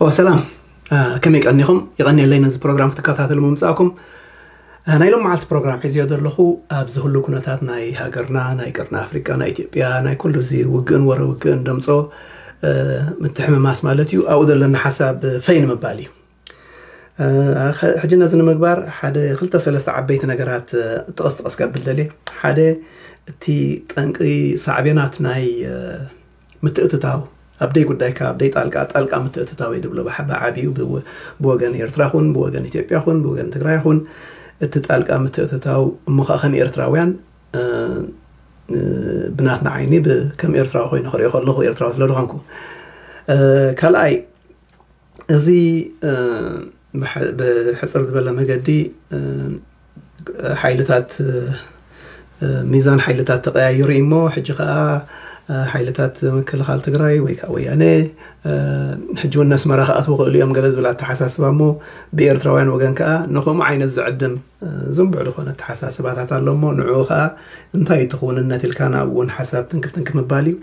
ኦ ሰላም፣ ከመይ ቀኒኹም? ይቐኒየለይ ነዚ ፕሮግራም ክትከታተሉ ምምጻእኩም። ናይ ሎም መዓልቲ ፕሮግራም ሒዝዮ ዘለኹ ኣብዚ ኩሉ ኩነታት ናይ ሃገርና፣ ናይ ቅርኒ ኣፍሪቃ፣ ናይ ኢትዮጵያ፣ ናይ ኩሉ እዚ ውግእን ወረ ውግእን ደምጾ ምትሕምማስ ማለት እዩ። ኣብኡ ዘለና ሓሳብ ፈይ ንምባል እዩ። ሕጂ ነዚ ንምግባር ሓደ ክልተ ሰለስተ ዓበይቲ ነገራት ጥቕስ ጥቕስ ከብል ደልየ። ሓደ፣ እቲ ጠንቂ ሳዕቤናት ናይ ምትእትታው፣ ኣብ ደይ ጉዳይካ፣ ኣብ ደይ ጣልቃ፣ ጣልቃ ምትእትታው እዩ ድብሎ ብዓብዩ። ብወገን ኤርትራ ኹን ብወገን ኢትዮጵያ ኹን ብወገን ትግራይ ኹን፣ እቲ ጣልቃ ምትእትታው እሞ ከዓ ከም ኤርትራውያን ብናትና ዓይኒ፣ ከም ኤርትራዊ ኮይኑ ክሪኦ ከለኹ፣ ኤርትራዊ ስለ ዝኾንኩ። ካልኣይ፣ እዚ ብሕፅር ዝበለ መገዲ ሓይልታት፣ ሚዛን ሓይልታት ተቐያይሩ እሞ፣ ሕጂ ከዓ ሓይልታት ምክልኻል ትግራይ ወይ ከዓ ወያነ፣ ሕጂ እውን ነስመራ ክኣትዉ ክእሉ እዮም ገለ ዝብል ኣተሓሳስባ እሞ፣ ብኤርትራውያን ወገን ከዓ ንኸምኡ ዓይነት ዝዕድም ዝንቡዕ ዝኾነ ኣተሓሳስባታት ኣሎ እሞ፣ ንዕኡ ከዓ እንታይ እዩ እቲ ክውንነት ኢልካ ናብኡ እውን ሓሳብ ትንክፍ ትንክፍ ምባል እዩ።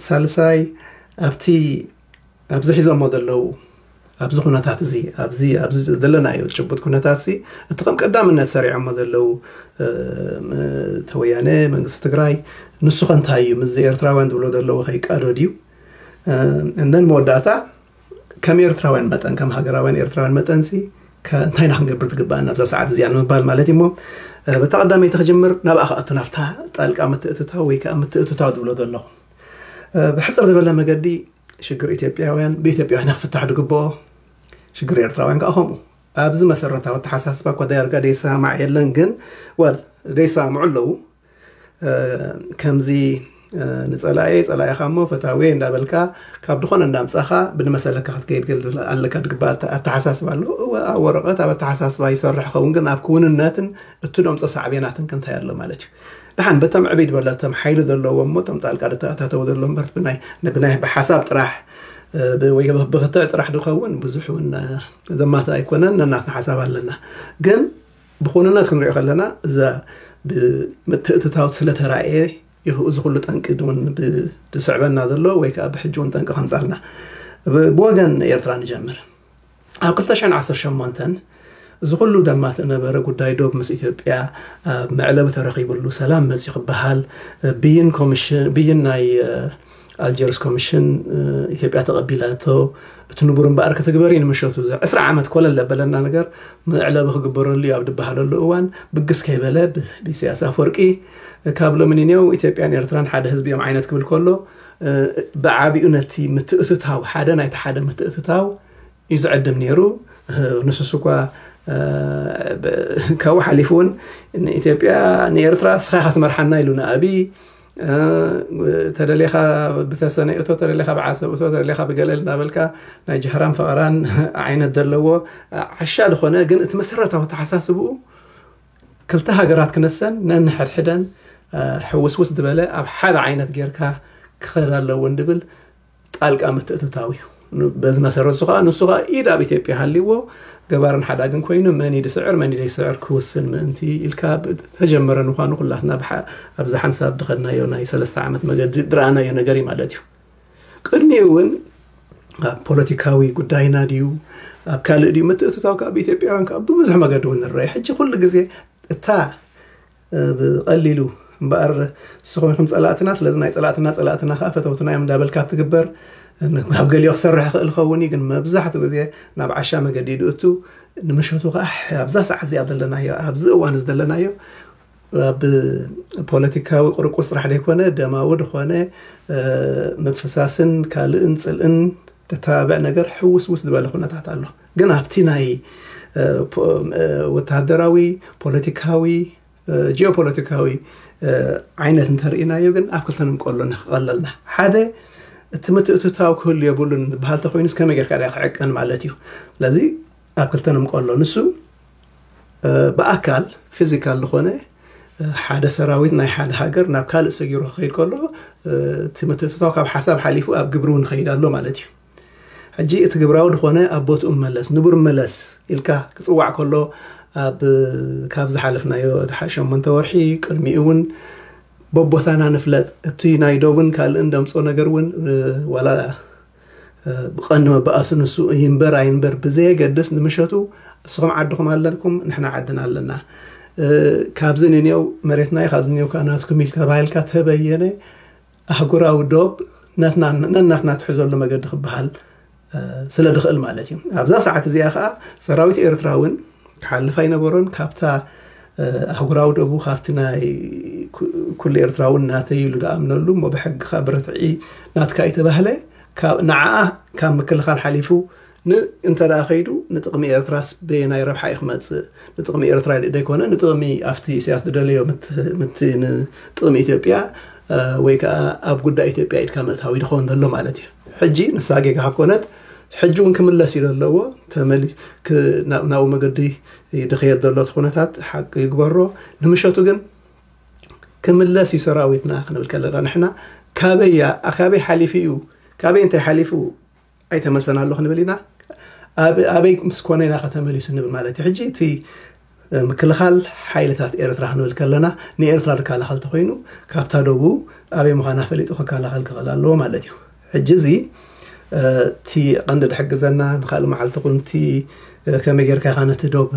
ሳልሳይ፣ ኣብቲ ኣብዚ ሒዞሞ ዘለዉ ኣብዚ ኩነታት እዚ ኣብዚ ኣብዚ ዘለናዮ ጭቡጥ ኩነታት እዚ፣ እቲ ከም ቀዳምነት ሰሪዖሞ ዘለዉ ተወያነ መንግስቲ ትግራይ፣ ንሱ ከ እንታይ እዩ ምስዚ ኤርትራውያን ዝብሎ ዘለዉ ከይቃዶ ድዩ? እንደን መወዳእታ፣ ከም ኤርትራውያን መጠን፣ ከም ሃገራውያን ኤርትራውያን መጠንሲ፣ እንታይ ኢና ክንገብር ትግባኣና ኣብዛ ሰዓት እዚኣ ንምባል ማለት እዩ እሞ፣ በታ ቀዳመይቲ ክጅምር፣ ናብኣ ክኣቱ፣ ናብታ ጣልቃ ምትእትታው ወይ ከዓ ምትእትታው ዝብሎ ዘለኹ፣ ብሕፅር ዝበለ መገዲ ሽግር ኢትዮጵያውያን ብኢትዮጵያውያን ክፍታሕ ዝግብኦ፣ ሽግር ኤርትራውያን ከዓ ከምኡ። ኣብዚ መሰረታዊ ኣተሓሳስባ እኳ ዳርጋ ደይሰማማዕ የለን፣ ግን ወል ደይሰማምዑ ኣለዉ። ከምዚ ንፀላኤ ፀላኢኻ እሞ ፈታዊ እንዳበልካ፣ ካብ ድኾነ እንዳምፃኻ ብንመሰለካ ክትከይድ ገል ኣለካ ድግባ ኣተሓሳስባ ኣሎ። ኣብ ወረቐት ኣብ ኣተሓሳስባ ይሰርሕ ኸውን፣ ግን ኣብ ክውንነትን እትደምፆ ሳዕቤናትን ክንታይ ኣሎ ማለት እዩ። ደሓን በቶም ዕብይ ዝበለ እቶም ሓይሊ ዘለዎ እሞ እቶም ጣልቃ ዝተኣታተው ዘሎ እምበር፣ ብናይ ብሓሳብ ጥራሕ ወይ ብክትዕ ጥራሕ ድኸውን ብዙሕ እውን ዘማት ኣይኮነን። ነናትና ሓሳብ ኣለና። ግን ብኩንነት ክንሪኦ ከለና፣ እዛ ብምትእትታው ስለተራእየ እዩ እዚ ኩሉ ጠንቂ እውን ዝስዕበና ዘሎ ወይ ከዓ ብሕጂ እውን ጠንቂ ከምፃልና። ብወገን ኤርትራ ንጀምር። ኣብ ክልተ ሽሕን ዓሰርተ ሸሞንተን እዚ ኩሉ ደማት ነበረ ጉዳይ ዶብ ምስ ኢትዮጵያ ኣብ መዕለቢ ተረኺብሉ ሰላም መፂኡ ክበሃል፣ ብይን ኮሚሽን፣ ብይን ናይ ኣልጀርስ ኮሚሽን ኢትዮጵያ ተቐቢላቶ፣ እቲ ንቡር እምበኣር ክትግበር እዩ ንምሸቱ። እዚ ዕስራ ዓመት ኮለል ለበለና ነገር መዕለቢ ክግበረሉ እዩ ኣብ ድበሃለሉ እዋን፣ ብግስ ከይበለ ብኢሳያስ ኣፈወርቂ ካብ ሎሚ ንኔው ኢትዮጵያን ኤርትራን ሓደ ህዝቢ እዮም ዓይነት ክብል ከሎ፣ ብዓቢኡ ነቲ ምትእትታው፣ ሓደ ናይቲ ሓደ ምትእትታው እዩ ዝዕድም ነይሩ። ንሱስ እኳ ካብኡ ሓሊፉ እውን ንኢትዮጵያ ንኤርትራ ስኻ ኢኻ ትመርሓና ኢሉ ንኣብይ፣ ተደሌኻ ብተሰነይ እቶ፣ ተደሌኻ ብዓሰብ እቶ፣ ተደሌኻ ብገለል እናበልካ ናይ ጀህራን ፈቐራን ዓይነት ዘለዎ ዓሻ ዝኾነ፣ ግን እቲ መሰረታዊ ተሓሳስብኡ ክልተ ሃገራት ክነሰን ነንሕድሕደን ሕውስውስ ዝበለ ኣብ ሓደ ዓይነት ጌርካ ክኸዳ ኣለውን ድብል ጣልቃ ምትእትታው እዩ። በዚ መሰረት እሱ ከዓ ንሱ ከዓ ኢድ ኣብ ኢትዮጵያ ሃልይዎ፣ ገባርን ሓዳግን ኮይኑ መን ድስዕር መን ደይስዕር ክውስን ምእንቲ ኢልካ ተጀመረ ምዃኑ ኩላትና ኣብዚ ሓንሳብ ድኸድናዮ ናይ ሰለስተ ዓመት መገዲ ድረኣናዮ ነገር እዩ ማለት እዩ። ቅድሚኡ እውን ኣብ ፖለቲካዊ ጉዳይና ድዩ ኣብ ካልእ ድዩ ምትእትታው ካብ ኢትዮጵያውያን ካብ ብብዙሕ መገዲ እውን ንረአ። ሕጂ ኩሉ ግዜ እታ ብቐሊሉ እምበኣር ንስኹም ኢኹም ጸላእትና፣ ስለዚ ናይ ጸላእትና ጸላእትና ከዓ ፈተውትና እዮም እንዳበልካ ኣብ ትግበር፣ ኣብ ገሊኦ ክሰርሕ ይኽእል ኸውን እዩ፣ ግን መብዛሕትኡ ግዜ ናብ ዓሻ መገዲ ድእቱ ንምሸቱ ከዓ ኣብዛ ሰዓት እዚኣ ዘለናዮ ኣብዚ እዋን እዚ ዘለናዮ ኣብ ፖለቲካዊ ቅርቁስ ጥራሕ ዘይኮነ ደማዊ ዝኾነ ምፍሳስን ካልእን ጽልእን ተተባብዕ ነገር ሕውስውስ ዝበለ ኩነታት ኣሎ። ግን ኣብቲ ናይ ወተሃደራዊ፣ ፖለቲካዊ፣ ጂኦፖለቲካዊ ዓይነት እንተርእናዮ ግን ኣብ ክልተ ንምቀሎ ንክቐለልና፣ ሓደ እቲ ምትእትታው ክህሉ የብሉን ዝበሃል ተኮይኑስ ከመይ ጌርካ ዳ ክዕቀን ማለት እዩ። ስለዚ ኣብ ክልተ ንምቀሎ፣ ንሱ ብኣካል ፊዚካል ዝኾነ ሓደ ሰራዊት ናይ ሓደ ሃገር ናብ ካልእ ሰጊሩ ክኸይድ ከሎ፣ እቲ ምትእትታው ካብ ሓሳብ ሓሊፉ ኣብ ግብሪ እውን ይኸይድ ኣሎ ማለት እዩ። ሕጂ እቲ ግብራዊ ዝኾነ ኣብ ቦትኡ መለስ፣ ንቡር መለስ ኢልካ ክጽዋዕ ከሎ፣ ኣብ ካብ ዝሓለፍናዮ ድሓር ሸሞንተ ወርሒ ቅድሚኡ እውን በቦታና ንፍለጥ፣ እቲ ናይ ዶብን ካልእን ደምጾ ነገር እውን ዋላ ብቐንዲ መባእሱ ንሱ ይንበር ኣይንበር ብዘየገድስ፣ ንምሸቱ እስኹም ዓድኹም ኣለኩም፣ ንሕና ዓድና ኣለና። ካብዚ ንኔው መሬትና እዩ፣ ካብዚ ንኔው ከዓ ናትኩም ኢል ተባሂልካ ተበየነ ኣህጉራዊ ዶብ ነናትና ትሕዘሉ መገዲ ክበሃል ስለ ድኽእል ማለት እዩ። ኣብዛ ሰዓት እዚኣ ከዓ ሰራዊት ኤርትራ እውን ክሓልፍ ኣይነበሮን። ካብታ ኣህጉራዊ ዶቡ ካብቲ ናይ ኩሉ ኤርትራዊ ናተይ ኢሉ ደኣምነሉ እሞ ብሕጊ ካብ ብርትዒ ናትካ እዩ ተባህለ። ንዓ ካብ ምክልኻል ሓሊፉ እንተ ደኣ ከይዱ ንጥቕሚ ኤርትራስ በየናይ ረብሓ እዩ ክመጽእ? ንጥቕሚ ኤርትራ ደይኮነ ንጥቕሚ ኣብቲ ኢሳያስ ዝደለዮ ምት ንጥቕሚ ኢትዮጵያ ወይ ከዓ ኣብ ጉዳይ ኢትዮጵያ ኢድካ ምእታዊ ድኸውን ዘሎ ማለት እዩ። ሕጂ ንሳ ጌጋ ካብ ኮነት ሕጂ እውን ክምለስ እዩ ዘለዎ። ተመሊ ናብኡ መገዲ ድኸየድ ዘሎ እቲ ኩነታት ሓቂ ይግበሮ። ንምሸቱ ግን ክምለስ እዩ ሰራዊትና ክንብል ከለና ንሕና ካበያ ካበይ ሓሊፉ እዩ ካበይ እንታይ ሓሊፉ ኣይተመልሰን ኣሎ ክንብል ኢና። ኣበይ ምስ ኮነ ኢና ከተመሊሱ ንብል ማለት እዩ። ሕጂ እቲ ምክልኻል ሓይልታት ኤርትራ ክንብል ከለና ንኤርትራ ዝከላኸል ተኮይኑ ካብታ ደቡ ኣበይ ምዃና ፈሊጡ ክከላኸል ክኽእል ኣለዎ ማለት እዩ። ሕጂ እዚ እቲ ቀንዲ ዝሕግዘና ንካልእ መዓልቲ ኩንቲ ከመይ ጌርካ ኢኻ ነቲ ዶብ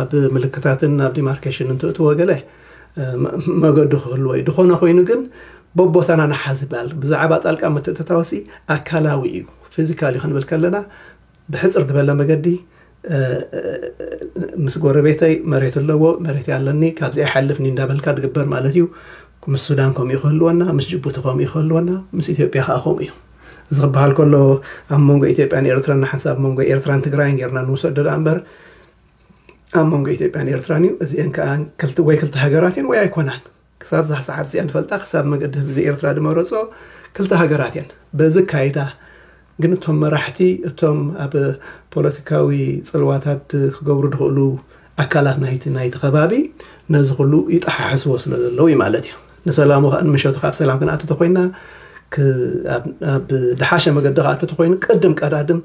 ኣብ ምልክታትን ኣብ ዲማርኬሽን እንትእትዎ ገለ መገዱ ክህልዎ እዩ። ዝኾነ ኮይኑ ግን በቦታና ንሓዝ ይበሃል። ብዛዕባ ጣልቃ ምትእትታውሲ ኣካላዊ እዩ፣ ፊዚካል እዩ ክንብል ከለና ብሕፅር ዝበለ መገዲ ምስ ጎረቤተይ መሬት ኣለዎ መሬት ኣለኒ ካብዚ ኣይሓልፍኒ እንዳበልካ ድግበር ማለት እዩ። ምስ ሱዳን ከምኡ ክህልወና፣ ምስ ጅቡቲ ከምኡ ክህልወና፣ ምስ ኢትዮጵያ ከዓ ከምኡ እዩ። እዚ ክበሃል ከሎ ኣብ መንጎ ኢትዮጵያን ኤርትራን ንሓንሳብ ኣብ መንጎ ኤርትራን ትግራይን ጌርና ንውሰዶ ደኣ እምበር ኣብ መንጎ ኢትዮጵያን ኤርትራን እዩ። እዚአን ከዓ ወይ ክልተ ሃገራት እየን ወይ ኣይኮናን። ክሳብ ዛ ሰዓት እዚኣ ንፈልጣ ክሳብ መገዲ ህዝቢ ኤርትራ ድመረፆ ክልተ ሃገራት እየን። በዚ ካይዳ ግን እቶም መራሕቲ እቶም ኣብ ፖለቲካዊ ፅልዋታት ክገብሩ ድኽእሉ ኣካላት ናይቲ ናይቲ ከባቢ ነዚ ኩሉ ይጠሓሕስዎ ስለ ዘለዉ እዩ ማለት እዩ። ንሰላሙ ከዓ ንምሸቱ ካብ ሰላም ክንኣቱ ተኮይና ኣብ ድሓሸ መገዲ ክኣቱ ተኮይኑ ቅድም ቀዳድም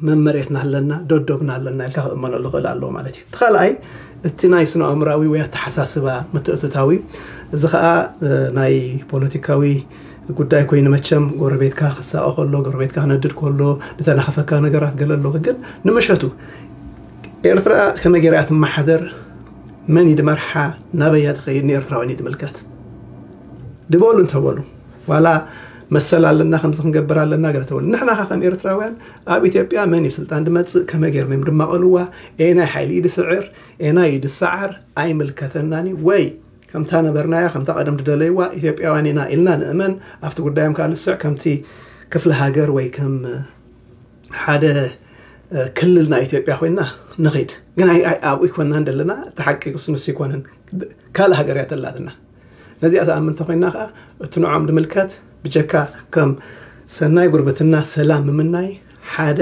መመሬትና ኣለና ደዶብና ኣለና ኢልካ ክእመነሉ ክእል ኣለዎ ማለት እዩ። እቲ ካልኣይ እቲ ናይ ስነ ኣእምራዊ ወይ ኣተሓሳስባ ምትእትታዊ እዚ ከዓ ናይ ፖለቲካዊ ጉዳይ ኮይኑ መቸም ጎረቤትካ ክሳቐ ከሎ ጎረቤትካ ክነድድ ከሎ ዝተናኸፈካ ነገራት ገለ ኣሎ ግን ንምሸቱ ኤርትራ ከመይ ገይራ ትመሓደር መን ይድመርሓ ናበያ ትኸይድ ንኤርትራውያን ይድምልከት ድበሉ እንተበሉ ዋላ መሰል ኣለና ከምዚ ክንገብር ኣለና ገለ ተበሉ ንሕና ከ ከም ኤርትራውያን ኣብ ኢትዮጵያ መን እዩ ስልጣን ድመፅእ ከመይ ገይሮም እዮም ድማቐልዋ ኤናይ ሓይሊ እዩ ድስዕር ኤናይ እዩ ድሰዓር ኣይምልከተናን እዩ ወይ ከምታ ነበርናያ ከምታ ቀደም ድደለይዋ ኢትዮጵያውያን ኢና ኢልና ንእመን ኣብቲ ጉዳዮም ከዓ ንስዕ ከምቲ ክፍለ ሃገር ወይ ከም ሓደ ክልል ናይ ኢትዮጵያ ኮይና ንኺድ ግን ኣብኡ ይኮና እንደለና እቲ ሓቂ ንሱ ይኮነን ካልእ ሃገር እያ ተላትና ነዚኣ ተኣምን እንተኮይና ከዓ እቲ ንዖም ድምልከት ብጀካ ከም ሰናይ ጉርብትና ሰላም ምምናይ ሓደ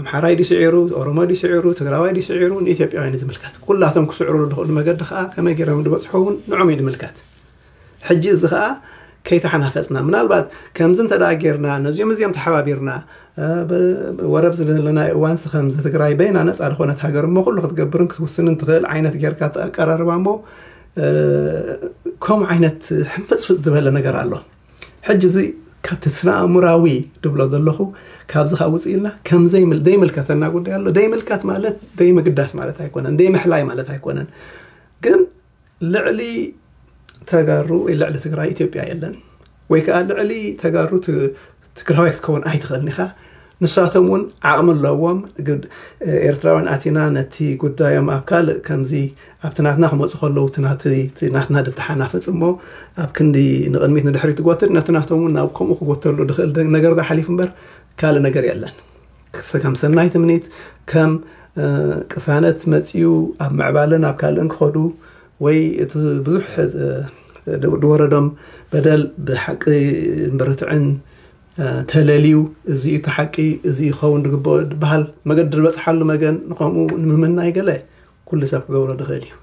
ኣምሓራይ ድስዒሩ ኦሮሞ ድስዒሩ ትግራዋይ ድስዒሩ ንኢትዮጵያውያን ዝምልከት ኩላቶም ክስዕሩ ዝኽእሉ መገዲ ከዓ ከመይ ገይሮም ዝበፅሑ እውን ንዖም እዩ ድምልከት ሕጂ እዚ ከዓ ከይተሓናፈፅና ምናልባት ከምዚ እንተ ጌርና ነዚኦም እዚኦም ተሓባቢርና ወረብ ዝደለና እዋንስ ከምዚ ትግራይ በይና ነፃ ዝኾነት ሃገር እሞ ኩሉ ክትገብርን ክትውስንን ትኽእል ዓይነት ጌርካ ተቀራርባ እሞ ከምኡ ዓይነት ሕንፍፅፍፅ ዝበለ ነገር ኣሎ ሕጂ እዚ ካብቲ ስነ ኣእምራዊ ድብሎ ዘለኹ ካብዚ ካብ ውፅእ ኢልና ከም ዘይምልከተና ጉዳይ ኣሎ ዘይምልከት ማለት ዘይምግዳስ ማለት ኣይኮነን ዘይምሕላይ ማለት ኣይኮነን ግን ልዕሊ ተጋሩ ወይ ልዕሊ ትግራይ ኢትዮጵያ የለን ወይ ከዓ ልዕሊ ተጋሩ ትግራዋይ ክትከውን ኣይትኽእልን ኢኻ ንሳቶም እውን ዓቕሚ ኣለዎም ኤርትራውያን ኣቲና ነቲ ጉዳዮም ኣብ ካልእ ከምዚ ኣብቲ ናትና ክመፁ ከለዉ ናትና ድተሓናፈፅ እሞ ኣብ ክንዲ ንቕድሚት ንድሕሪት ትጎትት ነቲ ናቶም እውን ናብ ከምኡ ክጎተሉ ድኽእል ነገር ዝሓሊፍ እምበር ካልእ ነገር የለን ከም ሰናይ ትምኒት ከም ቅሳነት መፅዩ ኣብ ምዕባለን ኣብ ካልእን ክኸዱ ወይ እቲ ብዙሕ ድወረዶም በደል ብሓቂ ምርትዕን ተለልዩ እዚ እቲ ሓቂ እዚ ይኸውን ዝግበኦ ዝበሃል መገዲ ዝበፅሓሉ መገን ንከምኡ ንምምናይ ገለ ኩሉ ሰብ ክገብሮ ዝኽእል እዩ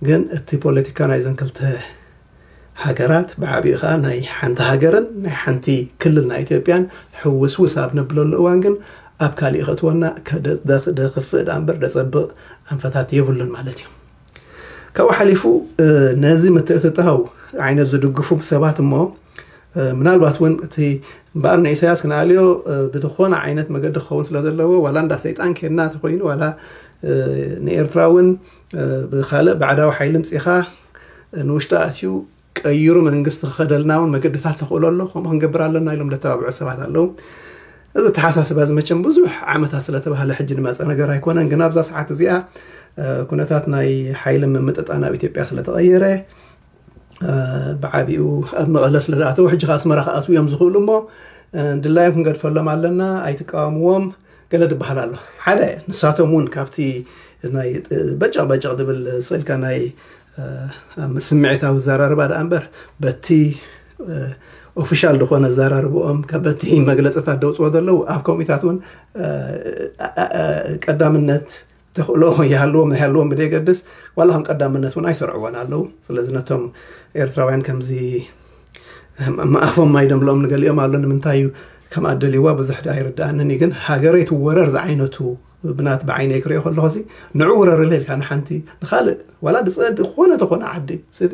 ግን እቲ ፖለቲካ ናይዘን ክልተ ሃገራት ብዓብኡ ከዓ ናይ ሓንቲ ሃገርን ናይ ሓንቲ ክልል ናይ ኢትዮጵያን ሕውስውስ ኣብ ነብለሉ እዋን ግን ኣብ ካሊእ ከእትወና ደክፍእ ዳ እምበር ደፀብቕ ኣንፈታት የብሉን ማለት እዩ ካብኡ ሓሊፉ ነዚ ምትእትታው ዓይነት ዝድግፉ ሰባት እሞ ምናልባት እውን እቲ እምበኣር ንኢሳያስ ክንኣልዮ ብዝኾነ ዓይነት መገዲ ክኸውን ስለ ዘለዎ ዋላ እንዳ ሰይጣን ኬድና ተኮይኑ ዋላ ንኤርትራ እውን ብካልእ ባዕዳዊ ሓይሊ ምፅኢኻ ንውሽጢ ኣትዩ ቀይሩ መንግስቲ ክኸደልና እውን መገድታት ተኽእሎ ኣሎ። ከምኡ ክንገብር ኣለና ኢሎም ለተባብዑ ሰባት ኣለዉ። እዚ ተሓሳስባ እዚ መቸም ብዙሕ ዓመታት ስለተባህለ ሕጂ ንመፀ ነገር ኣይኮነን። ግን ኣብዛ ሰዓት እዚኣ ኩነታት ናይ ሓይሊ ምምጥጣን ኣብ ኢትዮጵያ ስለተቐየረ ብዓቢኡ ኣብ መቐለ ስለ ዝኣተው ሕጂ ከ ኣስመራ ክኣትዉ እዮም ዝኽእሉ እሞ ድላዮም ክንገድፈሎም ኣለና። ኣይትቃወምዎም ገለ ዝበሃል ኣሎ። ሓደ ንሳቶም እውን ካብቲ ናይ በጨቕ በጨቕ ዝብል ስኢልካ ናይ ስምዒታዊ ዘራርባ ደኣ እምበር በቲ ኦፊሻል ዝኾነ ኣዘራርብኦም በቲ መግለፅታት ደውፅዎ ዘለዉ ኣብ ኮሚታት እውን ቀዳምነት ተኽእሎ ይሃልዎም ኣይሃልዎም ብደየገድስ ዋላ ከም ቀዳምነት እውን ኣይሰርዕዎን ኣለዉ። ስለዚ ነቶም ኤርትራውያን ከምዚ መኣፎም ማይ ደምልኦም ንገሊኦም ኣሎ። ንምንታይ እዩ ከም ኣደልይዋ ብዙሕ ዳ ኣይርድኣንን እዩ። ግን ሃገረይ ትወረር ዝዓይነቱ ብናት ብዓይነይ ክሪኦ ከለኹ ሲ ንዑ ውረርለ ኢልካ ንሓንቲ ንኻልእ ዋላ ድፀ ዝኾነ ተኾነ ዓዲ ስዲ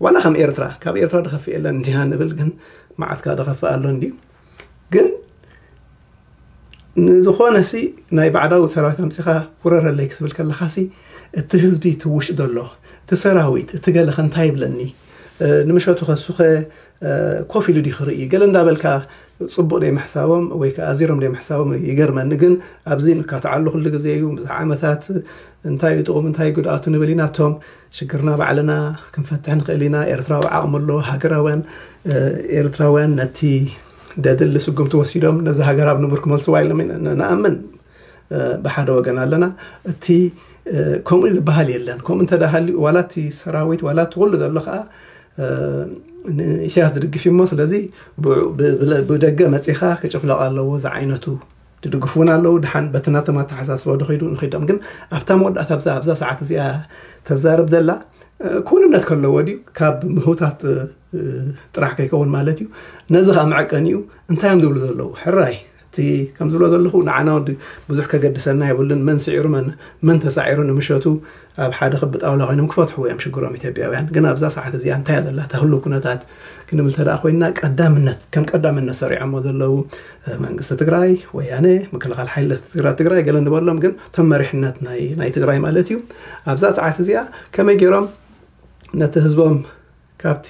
ዋላ ከም ኤርትራ ካብ ኤርትራ ድኸፍእ የለን እንዲና ንብል። ግን መዓትካ ድኸፍእ ኣሎ እንዲዩ። ግን ንዝኾነ ሲ ናይ ባዕዳዊ ሰራዊት ኣምፂኻ ውረረለይ ክትብል ከለኻ ሲ እቲ ህዝቢ እቲ ውሽጢ ዘሎ እቲ ሰራዊት እቲ ገለኸ እንታይ ይብለኒ ንምሸቱ ከሱኸ ኮፍ ኢሉ ዲ ክርኢ ገለ እንዳበልካ ፅቡቅ ደይ ምሕሳቦም ወይ ከዓ ኣዚሮም ደይ ምሕሳቦም ይገርመኒ። ግን ኣብዚ ንካትዓሉ ኩሉ ግዜ እዩ ብዙሕ ዓመታት እንታይ እዩ ጥቕሙ እንታይ ጉድኣቱ ንብል ኢና። እቶም ሽግርና ባዕልና ክንፈትሕ ንኽእል ኢና። ኤርትራዊ ዓቕሚ ኣሎ። ሃገራውያን ኤርትራውያን ነቲ ደድሊ ስጉምቲ ወሲዶም ነዚ ሃገር ኣብ ንቡር ክመልስዋ ኢሎም ንኣምን። ብሓደ ወገን ኣለና። እቲ ከምኡ ዝበሃል የለን። ከምኡ እንተ ሃልዩ ዋላ እቲ ሰራዊት ዋላ እቲ ኩሉ ዘሎ ከዓ ንኢሳያስ ዝድግፍ እሞ ስለዚ ብደገ መፂኻ ክጭፍለቕ ኣለዎ ዝዓይነቱ ትድግፉ እውን ኣለዉ። ድሓን በቲ ናቶም ኣተሓሳስባ ዶ ከይዱ ንኸይዶም ግን ኣብታ መወዳእታ ኣብዛ ኣብዛ ሰዓት እዚኣ ተዛርብ ዘላ ክውንነት ከለዎ ድዩ ካብ ምህውታት ጥራሕ ከይከውን ማለት እዩ። ነዚ ከዓ መዐቀኒኡ እንታይ እዮም ዝብሉ ዘለዉ ሕራይ እቲ ከም ዝብሎ ዘለኹ ንዓና ብዙሕ ከገድሰና የብሉን። መን ስዒሩ መን ተሳዒሩ ንምሸቱ ኣብ ሓደ ክቢ ጣውላ ኮይኖም ክፈትሕዎ እዮም ሽግሮም ኢትዮጵያውያን። ግን ኣብዛ ሰዓት እዚኣ እንታይ እያ ዘላ እታ ህሉ ኩነታት ክንብል ተደኣ ኮይና ቀዳምነት ከም ቀዳምነት ሰሪዖሞ ዘለዉ መንግስቲ ትግራይ ወያነ ምክልኻል ሓይልታት ትግራይ ትግራይ ገለ ንበሎም ግን እቶም መሪሕነት ናይ ናይ ትግራይ ማለት እዩ። ኣብዛ ሰዓት እዚኣ ከመይ ገይሮም ነቲ ህዝቦም ካብቲ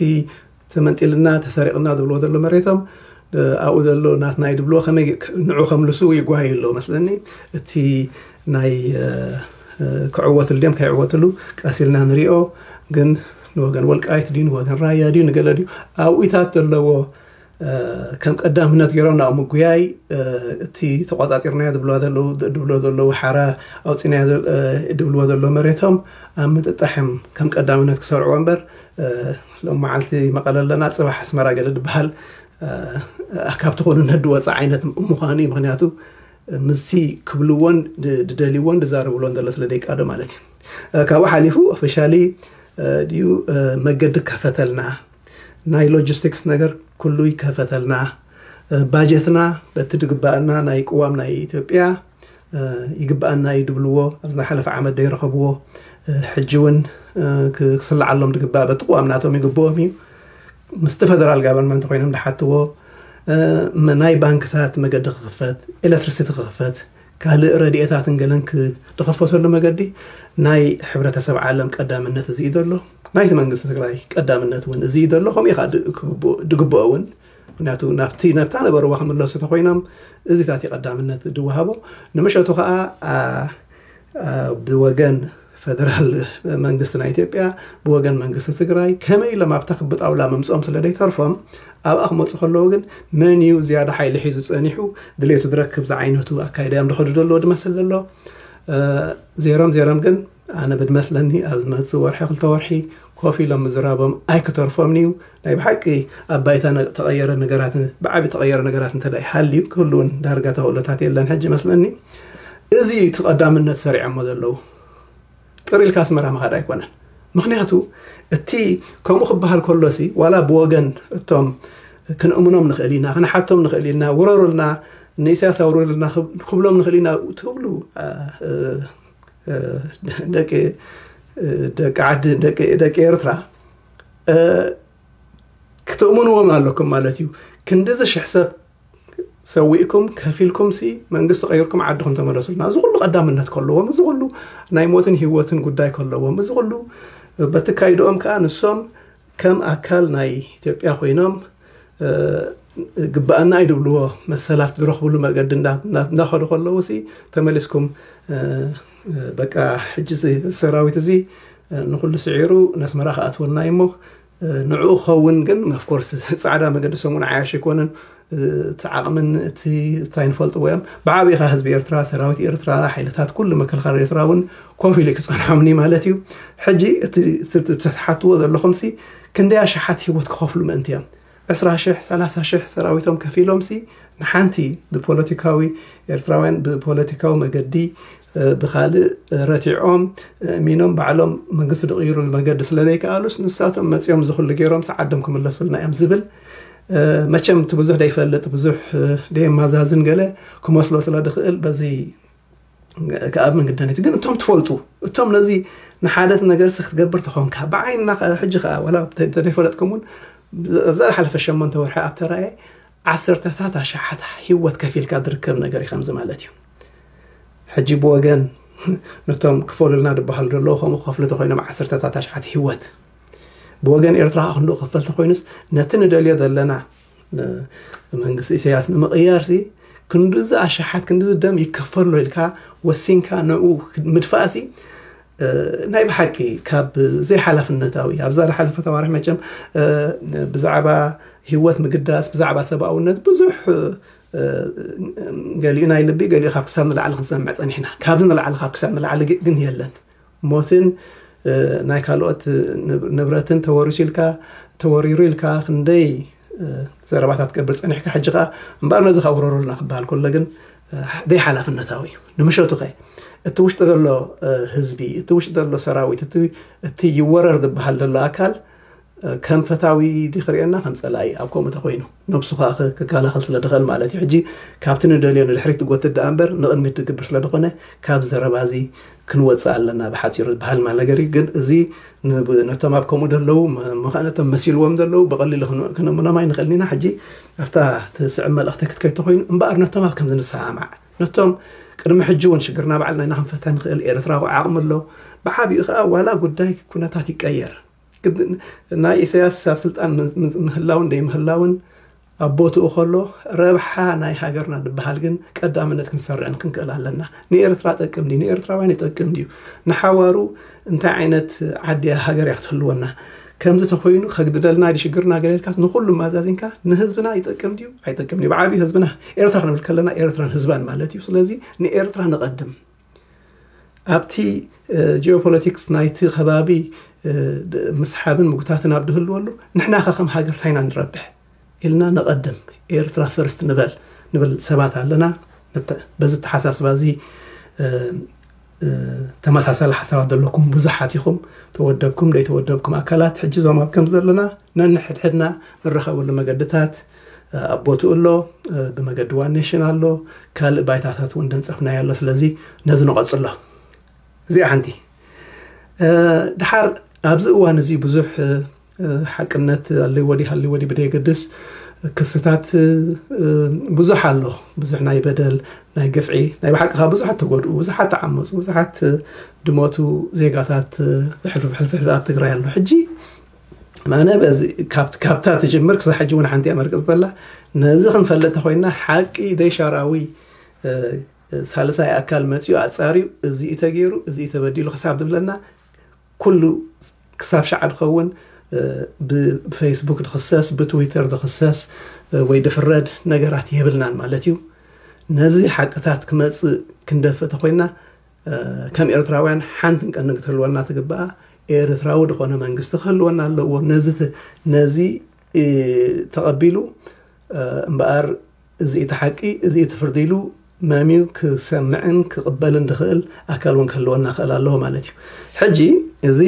ተመንጢልና ተሰሪቕና ዝብልዎ ዘሎ መሬቶም ኣብኡ ዘሎ ናትና እዩ ድብልዎ ከመይ ንዑ ከምልሱ ይጓዩ ኣለዎ መስለኒ። እቲ ናይ ክዕወትሉ ድዮም ከይዕወትሉ ቀስ ኢልና ንሪኦ። ግን ንወገን ወልቃይት ድዩ ንወገን ራያ ድዩ ንገለ ድዩ ኣብኡታት ዘለዎ ከም ቀዳምነት ገይሮም ናብ ምጉያይ እቲ ተቋፃፂርናዮ ድብልዎ ዘለዉ ሓራ ኣውፂናዮ ድብልዎ ዘለዉ መሬቶም ኣብ ምጥጣሕም ከም ቀዳምነት ክሰርዕዎ እምበር ሎም መዓልቲ መቐለ ኣለና ፅባሕ ኣስመራ ገለ ዝበሃል ካብ ትኾኑ ነድወፀ ዓይነት ምዃኑ እዩ። ምክንያቱ ምስዚ ክብልዎን ድደልይዎን ድዛረብሎን ዘሎ ስለ ደይቃዶ ማለት እዩ። ካብኡ ሓሊፉ ኦፊሻሊ ድዩ መገዲ ከፈተልና ናይ ሎጂስቲክስ ነገር ኩሉ ይከፈተልና ባጀትና በቲ ድግባእና ናይ ቅዋም ናይ ኢትዮጵያ ይግባኣና እዩ ድብልዎ ኣብዚ ናይ ሓለፈ ዓመት ደይረኸብዎ ሕጂ እውን ክስልዓሎም ድግባእ በቲ ቅዋም ናቶም ይግብኦም እዩ። ምስቲ ፈደራል ጋቨርንመንት ኮይኖም ድሓትዎ ናይ ባንክታት መገዲ ክኽፈት ኤሌክትሪሲቲ ክኽፈት ካልእ ረድኤታትን ገለን ክተኸፈተሉ መገዲ ናይ ሕብረተሰብ ዓለም ቀዳምነት እዚ እዩ ዘሎ። ናይቲ መንግስቲ ትግራይ ቀዳምነት እውን እዚ እዩ ዘሎ። ከምኡ ኢኻ ድግብኦ እውን ምክንያቱ ናብቲ ነብታ ነበርዋ ክምለሱ ተኮይኖም እዚታት እዩ ቀዳምነት ድወሃቦ። ንምሸቱ ከዓ ብወገን ፈደራል መንግስቲ ናይ ኢትዮጵያ ብወገን መንግስቲ ትግራይ ከመይ ኢሎም ኣብታ ክቢ ጣውላ ምምፅኦም ስለ ዘይተርፎም ኣብኣ ክመፁ ከለዉ ግን መን እዩ ዝያዳ ሓይሊ ሒዙ ፀኒሑ ድሌቱ ዝረክብ ዝዓይነቱ ኣካይዳ እዮም ዝኸዱ ዘለዎ ድመስል ዘሎ። ዜሮም ዜሮም ግን ኣነ ብድመስለኒ ኣብ ዝመፅእ ወርሒ ክልተ ወርሒ ኮፍ ኢሎም ምዝራቦም ኣይክተርፎም እዩ። ናይ ብሓቂ ኣብ ባይታ ተቐየረ ነገራት ብዓቢ ተቐየረ ነገራት እንተ ይሃልዩ ክህልውን ዳርጋ ተኽእሎታት የለን ሕጂ መስለኒ። እዚ እዩ እቲ ቀዳምነት ሰሪዖሞ ዘለዉ። ቅር ኢልካ ኣስመራ ምኻድ ኣይኮነን። ምክንያቱ እቲ ከምኡ ክበሃል ከሎሲ ዋላ ብወገን እቶም ክንእምኖም ንኽእል ኢና ክንሓቶም ንኽእል ኢና ውረሩልና ንኢሳያስ ኣውርድልና ክብሎም ንኽእል ኢና ትብሉ ደቂ ደቂ ዓዲ ደቂ ደቂ ኤርትራ ክትእምንዎም ኣለኩም ማለት እዩ። ክንድዚ ሽሕ ሰብ ሰዊእኩም ከፊልኩም ሲ መንግስቲ ቀይርኩም ዓድኹም ተመለሱልና። እዚ ኩሉ ቀዳምነት ከለዎም፣ እዚ ኩሉ ናይ ሞትን ህይወትን ጉዳይ ከለዎም፣ እዚ ኩሉ በትካይድኦም ከዓ ንሶም ከም ኣካል ናይ ኢትዮጵያ ኮይኖም ግባኣና እዩ ድብልዎ መሰላት ዝረኽብሉ መገዲ እንዳኸዱ ከለዉ ሲ ተመሊስኩም በቃ ሕጂ ሰራዊት እዚ ንኩሉ ስዒሩ ነስመራ ክኣትወልና እዩ እሞ ንዕኡ ክኸውን ግን ኦፍኮርስ ፃዕዳ መገዲ ሰሙን ዓያሽ ኣይኮነን። እቲ ዓቕምን እቲ እንታይ ንፈልጥዎ እዮም። ብዓብኻ ህዝቢ ኤርትራ፣ ሰራዊት ኤርትራ፣ ሓይልታት ኩሉ መከልኻል ኤርትራ እውን ኮፍ ኢሉ ክፀንሖምኒ ማለት እዩ። ሕጂ እቲ ትሓትዎ ዘለኹም ሲ ክንደይ ኣሽሓት ህይወት ክኸፍሉ ምእንቲ እዮም። ዕስራ ሽሕ ሰላሳ ሽሕ ሰራዊቶም ከፊሎም ሲ ንሓንቲ ብፖለቲካዊ ኤርትራውያን ብፖለቲካዊ መገዲ ብካልእ ረቲዖም እሚኖም ባዕሎም መንግስቲ ድቕይሩሉ መገዲ ስለ ዘይከኣሉስ ንሳቶም መፂኦም ዝኽሉ ገይሮም ሰዓዶም ክምለሱልና እዮም ዝብል መቸም እቲ ብዙሕ ደይፈልጥ ብዙሕ ደየማዛዝን ገለ ክመስሎ ስለ ድኽእል በዚ ክኣምን ግደን እዩ። ግን እቶም ትፈልጡ እቶም ነዚ ንሓደት ነገር ሲ ክትገብር ተኾንካ ብዓይንና ሕጂ ከዓ ወላ ተደይፈለጥኩም እውን ኣብዛ ዝሓለፈ ሸሞንተ ወርሒ ኣብ ተራእየ ዓሰርተታት ኣሽሓት ህይወት ከፊልካ ዝርከብ ነገር እዩ ከምዚ ማለት እዩ። ሕጂ ብወገን ነቶም ክፈሉልና ዝበሃሉ ዘለዉ ከምኡ ክኸፍሉ ተኮይኖም ዓሰርተታት ኣሽሓት ህይወት ብወገን ኤርትራ ክንድኡ ክፈል ተኮይኑስ ነቲ ንደልዮ ዘለና መንግስቲ ኢሳያስ ንምቕያር ሲ ክንድዚ ኣሽሓት ክንድዚ ደም ይከፈሎ ኢልካ ወሲንካ ንኡ ምድፋእ ሲ ናይ ብሓቂ ካብ ዘይሓላፍነታዊ ኣብዛ ዝሓለፈ ተዋርሕ መቸም ብዛዕባ ህይወት ምግዳስ ብዛዕባ ሰብኣውነት ብዙሕ ገሊኡ ናይ ልቢ ገሊኡ ካብ ክሳብ ንላዕሊ ክንሰምዕ ፀኒሕና። ካብዚ ንላዕሊ ካብ ክሳብ ንላዕሊ ግን የለን። ሞትን ናይ ካልኦት ንብረትን ተወሪሱ ኢልካ ተወሪሩ ኢልካ ክንደይ ዘረባታት ትገብር ፀኒሕካ ሕጂ ከዓ እምበኣር ነዚ ካብ ውረሩልና ክበሃል ከሎ ግን ዘይሓላፍነታዊ እዩ። ንምሸቱ ከ እቲ ውሽጢ ዘሎ ህዝቢ እቲ ውሽጢ ዘሎ ሰራዊት እቲ ይወረር ዝበሃል ዘሎ ኣካል ከም ፈታዊ ዲ ክርእየና ከም ፀላኢ ኣብ ከምኡ ተኮይኑ ነብሱ ከዓ ክከላኸል ስለ ድኽእል ማለት እዩ። ሕጂ ካብቲ ንደልዮ ንድሕሪት ትጎትት ደኣ እምበር ንቕድሚት ትግብር ስለ ድኾነ ካብ ዘረባ እዚ ክንወፅእ ኣለና ብሓፂሩ ዝበሃል ማለት ነገር እዩ። ግን እዚ ነቶም ኣብ ከምኡ ደለዉ መኻነቶም መሲልዎም ደለዉ ብቐሊሉ ክነምኖም ኣይንኽእልን ኢና። ሕጂ ኣብታ ትስዕብ መልእኽቲ ክትከይድ ተኮይኑ እምበኣር ነቶም ኣብ ከምዚ ንሰማማዕ ነቶም ቅድሚ ሕጂ እውን ሽግርና ባዕልና ኢና ክንፈታ ንኽእል። ኤርትራዊ ዓቕሚ ኣሎ። ብዓብኡ ከዓ ዋላ ጉዳይ ኩነታት ይቀየር ናይ ኢሳያስ ኣብ ስልጣን ምህላውን ደይምህላውን ኣብ ቦትኡ ከሎ ረብሓ ናይ ሃገርና ዝበሃል ግን ቀዳምነት ክንሰርዕን ክንክእል ኣለና። ንኤርትራ ጠቅም ድዩ? ንኤርትራውያን ይጠቅም ድዩ? ንሓዋሩ እንታይ ዓይነት ዓድያ ሃገር እያ ክትህልወና? ከምዚ ተኮይኑ ከግድደልና ድሽግርና ገሌልካስ ንኩሉ ማዛዚንካ ንህዝብና ይጠቅም ድዩ? ኣይጠቅም ድዩ? ብዓብዩ ህዝብና ኤርትራ ክንብል ከለና ኤርትራን ህዝባን ማለት እዩ። ስለዚ ንኤርትራ ንቐድም። ኣብቲ ጂኦፖለቲክስ ናይቲ ከባቢ ምስሓብን ምጉታትን ኣብ ድህልወሉ ንሕና ከ ከም ሃገር ታይና ንረብሕ ኢልና ንቐድም ኤርትራ ፈርስት ንበል ንብል ሰባት ኣለና። በዚ ተሓሳስባ እዚ ተመሳሳሊ ሓሳባት ዘለኩም ብዙሓት ኢኹም። ተወደብኩም ደይተወደብኩም ኣካላት ሕጂ ዞም ኣብ ከም ዘለና ነንሕድሕድና ንረኸበሉ መገድታት ኣብ ቦትኡ ኣሎ። ብመገዲ ዋን ኔሽን ኣሎ። ካልእ ባይታታት እውን ደንፀፍናዮ ኣሎ። ስለዚ ነዚ ንቐፅሎ። እዚኣ ሓንቲ ድሓር ኣብዚ እዋን እዚ ብዙሕ ሓቅነት ኣለዎ ድዩ ሃልዎ ድዩ ብደየገድስ ክስታት ብዙሕ ኣሎ። ብዙሕ ናይ በደል ናይ ግፍዒ ናይ ብሓቂ ካብ ብዙሓት ተጎድኡ ብዙሓት ተዓመፁ ብዙሓት ድሞቱ ዜጋታት ሕልፍ ሕልፍ ኣብ ትግራይ ኣሎ። ሕጂ ኣነ ካብታ ትጅምር ክሳብ ሕጂ እውን ሓንቲ እያ መርቅፅ ዘላ። ነዚ ክንፈልጥ ተኮይና ሓቂ ደይሻራዊ ሳልሳይ ኣካል መፂኡ ኣፃርዩ እዚ ተገይሩ እዚ ተበዲሉ ክሳብ ዝብለና ኩሉ ክሳብ ሸዓ ድኸውን ብፌስቡክ ድኽሰስ ብትዊተር ድኽሰስ ወይ ድፍረድ ነገራት የብልናን ማለት እዩ። ነዚ ሓቅታት ክመፅእ ክንደፍእ ተኮይና ከም ኤርትራውያን ሓንቲ ቀንዲ ክትህልወና ትግባኣ ኤርትራዊ ድኾነ መንግስቲ ክህልወና ኣለዎ። ነዚ ነዚ ተቐቢሉ እምበኣር እዚ እቲ ሓቂ እዚ እቲ ፍርዲ ኢሉ መምዩ ክሰምዕን ክቕበልን ድኽእል ኣካል እውን ክህልወና ክእል ኣለዎ ማለት እዩ። ሕጂ እዚ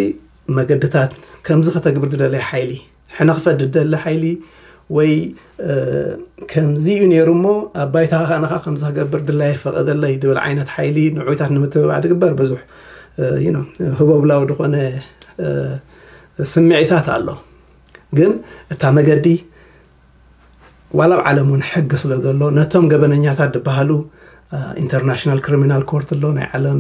መገድታት ከምዚ ከተግብር ድደለየ ሓይሊ ሕነ ክፈድ ድደሊ ሓይሊ ወይ ከምዚ እዩ ነይሩ እሞ ኣብ ባይታ ከዓነኻ ከምዚ ክገብር ድላይ ፈቐደለይ ድብል ዓይነት ሓይሊ ንዑይታት ንምትብባዕ ድግበር ብዙሕ ህቦብላዊ ድኾነ ስምዒታት ኣሎ። ግን እታ መገዲ ዋላ ኣብ ዓለም እውን ሕጊ ስለ ዘሎ ነቶም ገበነኛታት ዝበሃሉ ኢንተርናሽናል ክሪሚናል ኮርት ኣሎ፣ ናይ ዓለም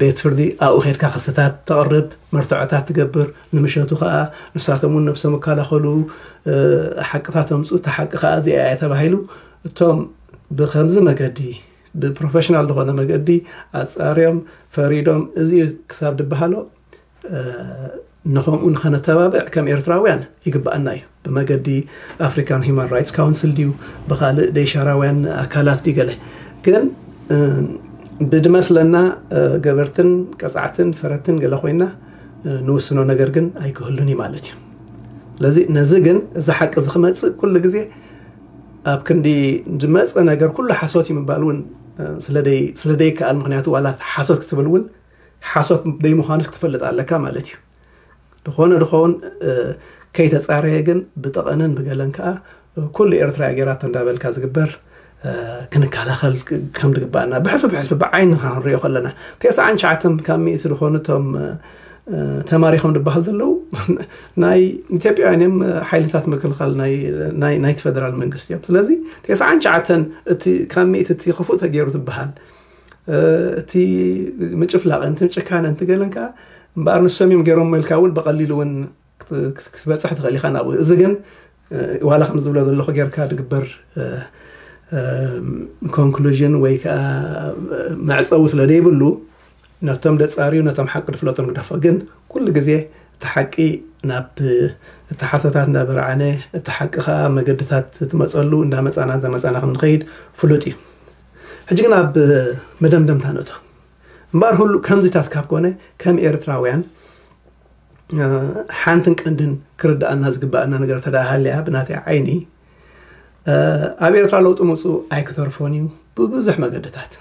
ቤት ፍርዲ፣ ኣብኡ ከድካ ክስታት ተቕርብ፣ መርትዖታት ትገብር። ንምሸቱ ከዓ ንሳቶም እውን ነብሶም ይከላኸሉ፣ ሓቅታት ኣምፁ፣ እታ ሓቂ ከዓ እዚኣ እያ ተባሂሉ እቶም ብከምዚ መገዲ ብፕሮፌሽናል ዝኾነ መገዲ ኣፃርዮም ፈሪዶም እዚ ክሳብ ዝበሃሎ ንኸምኡ ንኸነተባብዕ ከም ኤርትራውያን ይግብኣና እዩ። ብመገዲ ኣፍሪካን ሂማን ራይትስ ካውንስል ድዩ ብካልእ ደይሻራውያን ኣካላት ድዩ ገለ ግን ብድመስለና ገበርትን ቀፃዕትን ፈረትን ገለ ኮይና ንውስኖ ነገር ግን ኣይክህሉን እዩ ማለት እዩ። ስለዚ ነዚ ግን እዚ ሓቂ እዚ ክመፅእ ኩሉ ግዜ ኣብ ክንዲ ዝመፀ ነገር ኩሉ ሓሶት እዩ ምባል እውን ስለ ደይከኣል፣ ምክንያቱ ዋላ ሓሶት ክትብል እውን ሓሶት ደይምዃኑ ክትፈልጥ ኣለካ ማለት እዩ። ዝኾነ ድኸውን ከይተፃረየ ግን ብጠቐነን ብገለን ከዓ ኩሉ ኤርትራ ጌራቶ እንዳበልካ ዝግበር ክንከላኸል ከም ዝግባእና ብሕልፊ ብሕልፊ ብዓይንኻ ክንሪኦ ከለና፣ ተስዓን ትሽዓተን ካብ ሚእቲ ዝኾኑ እቶም ተማሪኾም ዝበሃል ዘለዉ ናይ ኢትዮጵያውያን እዮም። ሓይልታት ምክልኻል ናይቲ ፌደራል መንግስቲ እዮም። ስለዚ ተስዓን ትሽዓተን እቲ ካብ ሚእቲ እቲ ክፉእ ተገይሩ ዝበሃል እቲ ምጭፍላቕን እቲ ጭካነን እቲ ገለን ከዓ እምበኣር ንሶም እዮም ገይሮም ኢልካ እውን ብቐሊሉ እውን ክትበፅሕ ትኽእል ኢኻ ናብኡ። እዚ ግን ዋላ ከም ዝብሎ ዘለኹ ጌርካ ዝግበር ኮንክሉዥን ወይ ከዓ መዕፀዊ ስለ ዘይብሉ ነቶም ደፃርዩ ነቶም ሓቂ ድፍለጦም ግደፎ። ግን ኩሉ ግዜ እቲ ሓቂ ናብ እቲ ሓሶታት እንዳበርዓነ እቲ ሓቂ ከዓ መገድታት ትመፀሉ እንዳመፃና እንዳመፃና ከም ንኸይድ ፍሉጥ እዩ። ሕጂ ግን ኣብ መደምደምታ ንእቶ እምበኣር ሁሉ ከምዚታት ካብ ኮነ ከም ኤርትራውያን ሓንትን ቀንድን ክርዳኣና ዝግባኣና ነገር ተዳሃልያ ብናተይ ዓይኒ ኣብ ኤርትራ ለውጢ ምፁ ኣይክተርፎን እዩ ብብዙሕ መገድታት።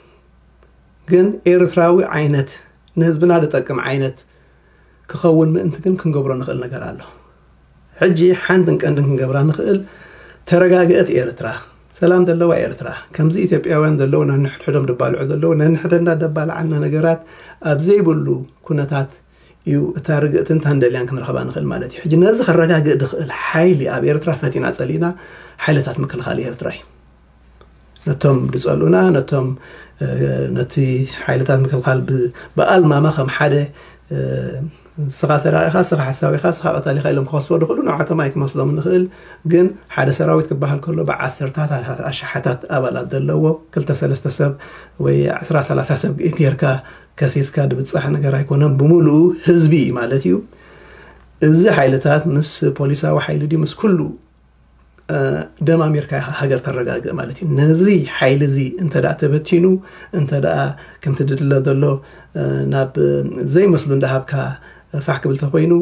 ግን ኤርትራዊ ዓይነት ንህዝብና ዝጠቅም ዓይነት ክኸውን ምእንቲ ግን ክንገብሮ ንኽእል ነገር ኣሎ። ሕጂ ሓንትን ቀንድን ክንገብራ ንኽእል ተረጋግአት ኤርትራ፣ ሰላም ዘለዋ ኤርትራ፣ ከምዚ ኢትዮጵያውያን ዘለዉ ነንሕድሕዶም ደባልዑ ዘለዉ ነንሕደና ደባልዓና ነገራት ኣብ ዘይብሉ ኩነታት እዩ እታ ርግእትን ታንደልያን ክንረኽባ ንኽእል ማለት እዩ። ሕጂ ነዚ ከረጋግእ ድኽእል ሓይሊ ኣብ ኤርትራ ፈቲና ጸሊና ሓይልታት ምክልኻል ኤርትራ እዩ። ነቶም ድጸልኡና ነቶም ነቲ ሓይልታት ምክልኻል ብኣልማማ ከም ሓደ ስኻ ሰራቒኻ ስኻ ሓሳዊኻ ስኻ ቀታሊኻ ኢሎም ክኸስዎ ድኽእሉ ንዓቶም ኣይክመስሎም ንኽእል። ግን ሓደ ሰራዊት ክበሃል ከሎ ብዓሰርታት ኣሽሓታት ኣባላት ዘለዎ ክልተ ሰለስተ ሰብ ወይ ዕስራ ሰላሳ ሰብ ጌርካ ከሲስካ ድብጻሕ ነገር ኣይኮነን። ብምሉኡ ህዝቢ እዩ ማለት እዩ። እዚ ሓይልታት ምስ ፖሊሳዊ ሓይሊ ድዩ ምስ ኩሉ ደማሚርካ ኢኻ ሃገር ተረጋግእ ማለት እዩ። ነዚ ሓይሊ እዚ እንተ ደኣ ተበቲኑ እንተ ደኣ ከምቲ ድድለ ዘሎ ናብ ዘይመስሉ እንዳሃብካ ፋሕ ክብል ተኮይኑ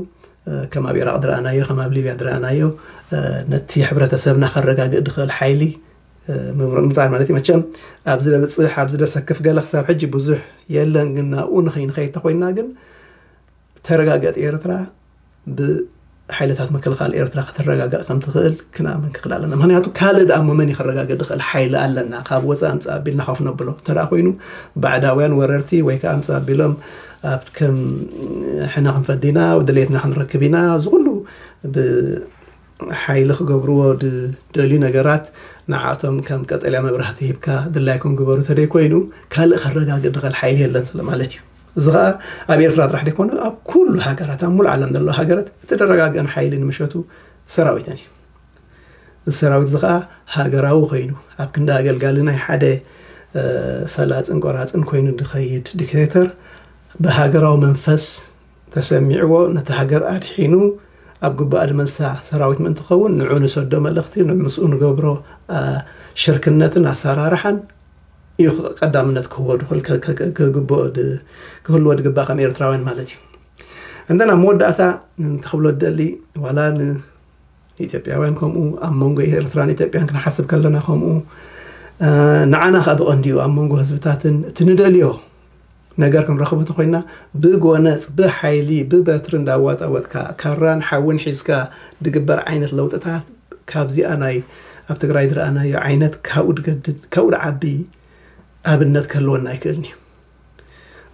ከም ኣብ ኢራቕ ድረኣናዮ ከም ኣብ ሊብያ ድረኣናዮ ነቲ ሕብረተሰብና ከረጋግእ ድኽእል ሓይሊ ምምጻእ ማለት እዩ። መቸም ኣብዚ ደብፅሕ ኣብዚ ደሰክፍ ገለ ክሳብ ሕጂ ብዙሕ የለን፣ ግን ናብኡ ንኸይንኸይድ ተኮይንና ግን ተረጋገጥ ኤርትራ ብሓይልታት ምክልኻል ኤርትራ ክትረጋጋእ ከም ትኽእል ክንኣምን ክኽእል ኣለና። ምክንያቱ ካልእ ደኣ መን እዩ ክረጋገጥ ዝኽእል ሓይሊ ኣለና ካብ ወፃኢ ኣምፃእ ኣቢልና ከፍ ነብሎ እንተ ደኣ ኮይኑ ባዕዳውያን ወረርቲ ወይ ከዓ ኣምፃእ ኣቢሎም ኣብ ከም ሕነ ክንፈዲ ኢና ድሌትና ክንረክብ ኢና ዝኩሉ ሓይሊ ክገብርዎ ዝደልዩ ነገራት ንዓቶም ከም ቀጠልያ መብራህቲ ሂብካ ድላይኩም ግበሩ ተደይ ኮይኑ ካልእ ከረጋግእ ድኽእል ሓይሊ የለን ስለ ማለት እዩ። እዚ ከዓ ኣብ ኤርትራ ጥራሕ ደይኮነ ኣብ ኩሉ ሃገራት ኣብ ሙሉእ ዓለም ዘለዋ ሃገራት እቲ ደረጋግአን ሓይሊ ንምሸቱ ሰራዊተን እዩ። እዚ ሰራዊት እዚ ከዓ ሃገራዊ ኮይኑ ኣብ ክንዲ ኣገልጋሊ ናይ ሓደ ፈላፅን ቆራፅን ኮይኑ ዝኸይድ ዲክቴተር ብሃገራዊ መንፈስ ተሰሚዕዎ ነቲ ሃገር ኣድሒኑ ኣብ ግባእ ድመልሳ ሰራዊት ምእንቲ ኸውን ንዑ ንሰዶ መልእኽቲ ምስኡ ንገብሮ ሽርክነትን ኣሰራርሓን እዩ ቀዳምነት ክህልዎ ድኽእል ክህልዎ ድግባእ ከም ኤርትራውያን ማለት እዩ። እንተና መወዳእታ ክብሎ ደሊ ዋላ ንኢትዮጵያውያን ከምኡ ኣብ መንጎ ኤርትራን ኢትዮጵያን ክንሓስብ ከለና ከምኡ ንዓና ከዓ ብቐንዲኡ ኣብ መንጎ ህዝብታትን እቲ ንደልዮ ነገር ክንረኽቦ ተኮይና ብጎነፅ ብሓይሊ ብበትሪ እንዳዋጣወጥካ ካራን ሓውን ሒዝካ ድግበር ዓይነት ለውጥታት ካብዚኣ ናይ ኣብ ትግራይ ዝረኣናዮ ዓይነት ካብኡ ድገድድ ካብኡ ድዓቢ ኣብነት ክህልወና ኣይክእልን እዩ።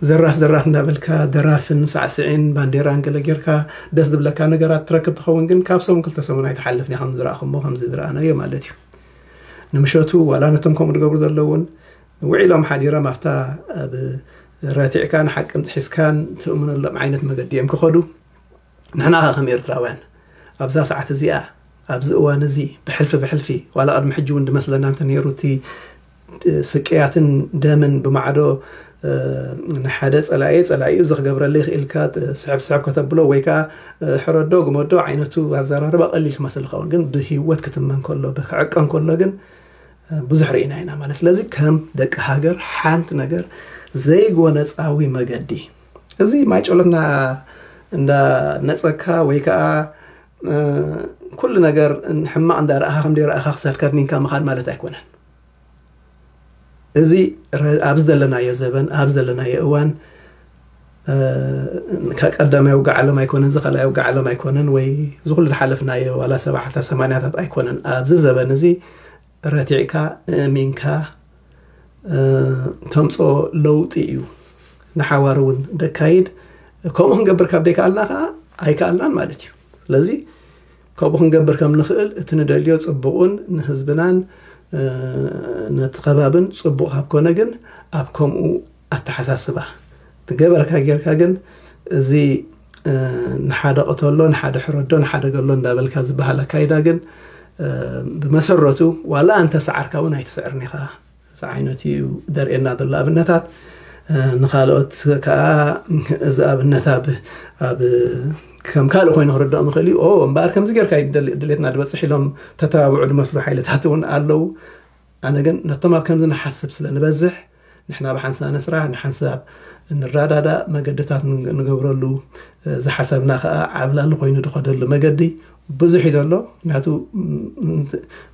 ዘራፍ ዘራፍ እንዳበልካ ደራፍን ሳዕስዒን ባንዴራን ገለ ጌርካ ደስ ዝብለካ ነገራት ትረክብ ትኸውን፣ ግን ካብ ሰሙን ክልተ ሰሙን ኣይትሓልፍን እያ፣ ከም ዝረኣኹሞ ከም ዝረኣናዮ ማለት እዩ። ንምሸቱ ዋላ ነቶም ከምኡ ዝገብሩ ዘለውን ውዒሎም ሓዲሮም ኣብታ ኣብ ረቲዕካን ሓቅን ጥሒስካን ትእምነሎም ዓይነት መገዲ እዮም ክኸዱ። ንሕና ኸ ከም ኤርትራውያን ኣብዛ ሰዓት እዚኣ፣ ኣብዚ እዋን እዚ፣ ብሕልፊ ብሕልፊ ዋላ ቅድሚ ሕጂ እውን ዝመስለና እንተነይሩ፣ እቲ ስቅያትን ደምን ብማዕዶ ንሓደ ጸላኢ ጸላኢኡ እዚ ክገብረለይ ክኢልካ ስሕብ ስሕብ ከተብሎ ወይ ከዓ ሕረዶ ግመዶ ዓይነቱ ኣዘራርባ ቀሊል ክመስል ይኸውን፣ ግን ብህይወት ክትመን ከሎ፣ ክዕቀን ከሎ ግን ብዙሕ ርኢና ኢና ማለት። ስለዚ ከም ደቂ ሃገር ሓንቲ ነገር ዘይጎነጻዊ መገዲ፣ እዚ ማይ ጨሎትና እንዳ ነጸካ ወይ ከዓ ኩሉ ነገር ሕማቕ እንዳ ረኣኻ ከም ደይረኣኻ ክሰልከርኒንካ ምኻድ ማለት ኣይኮነን። እዚ ኣብዚ ዘለናዮ ዘበን፣ ኣብ ዘለናዮ እዋን፣ ከቀዳማይ ውግእ ዓለም ኣይኮነን፣ እዚ ካልኣይ ውግእ ዓለም ኣይኮነን፣ ወይ እዚ ኩሉ ዝሓለፍናዮ ዋላ ሰባዓታት ሰማንያታት ኣይኮነን። ኣብዚ ዘበን እዚ ረቲዕካ እሚንካ ተምፅኦ ለውጢ እዩ። ንሓዋር እውን ደካይድ ከምኡ ክንገብር ካብ ደይከኣልና ከዓ ኣይከኣልናን ማለት እዩ። ስለዚ ከምኡ ክንገብር ከም ንኽእል እቲ ንደልዮ ፅቡቕን ንህዝብናን ነቲ ከባብን ፅቡቕ ካብ ኮነ ግን ኣብ ከምኡ ኣተሓሳስባ ትገበርካ ጌርካ ግን እዚ ንሓደ ቅተሎ ንሓደ ሕረዶ ንሓደ ገሎ እንዳበልካ ዝበሃል ኣካይዳ ግን ብመሰረቱ ዋላ እንተ ሰዓርካ እውን ኣይትስዕርን ኢኻ። እዚ ዓይነት እዩ ደርእየና ዘሎ ኣብነታት። ንካልኦት ከዓ እዚ ኣብነት ኣብ ኣብ ከም ካልእ ኮይኑ ክርድኦም ይኽእል እዩ። ኦ እምበኣር ከምዚ ጌርካ ድሌትና ድበፅሕ ኢሎም ተተባብዑ ድመስሉ ሓይልታት እውን ኣለዉ። ኣነ ግን ነቶም ኣብ ከምዚ ንሓስብ ስለ ንበዝሕ ንሕና ብሓንሳብ ንስራሕ፣ ንሓንሳብ ንረዳዳእ፣ መገድታት ንገብረሉ ዝሓሰብና ከዓ ዓብላሊ ኮይኑ ዝኸደሉ መገዲ ብዙሕ እዩ ዘሎ። ምክንያቱ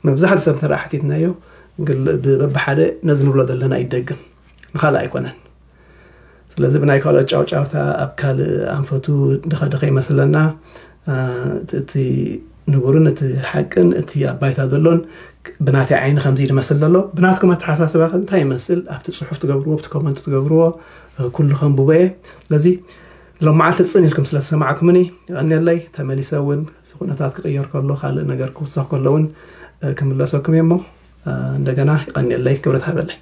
መብዛሕትኡ ሰብ እንተ ሓቲትናዮ በብሓደ ነዚ ንብሎ ዘለና ይደግም፣ ንካልእ ኣይኮነን። ስለዚ ብናይ ካልኦት ጫውጫውታ ኣብ ካልእ ኣንፈቱ ድኸድኸ ይመስለና። እቲ ንቡርን እቲ ሓቅን እቲ ኣብ ባይታ ዘሎን ብናተይ ዓይኒ ከምዚ ድመስል ዘሎ። ብናትኩም ኣተሓሳስባ ከ እንታይ ይመስል? ኣብቲ ፅሑፍ ትገብርዎ ኣብቲ ኮመንት ትገብርዎ ኩሉ ከንብቦ እየ። ስለዚ ሎም መዓልቲ ፅን ኢልኩም ስለ ዝሰማዕኩምኒ ይቐንየለይ። ተመሊሰ እውን እዚ ኩነታት ክቕየር ከሎ ካልእ ነገር ክውሰኽ ከሎ እውን ክምለሰኩም እየ። እሞ እንደገና ይቐንየለይ፣ ክብረት ሃበለይ።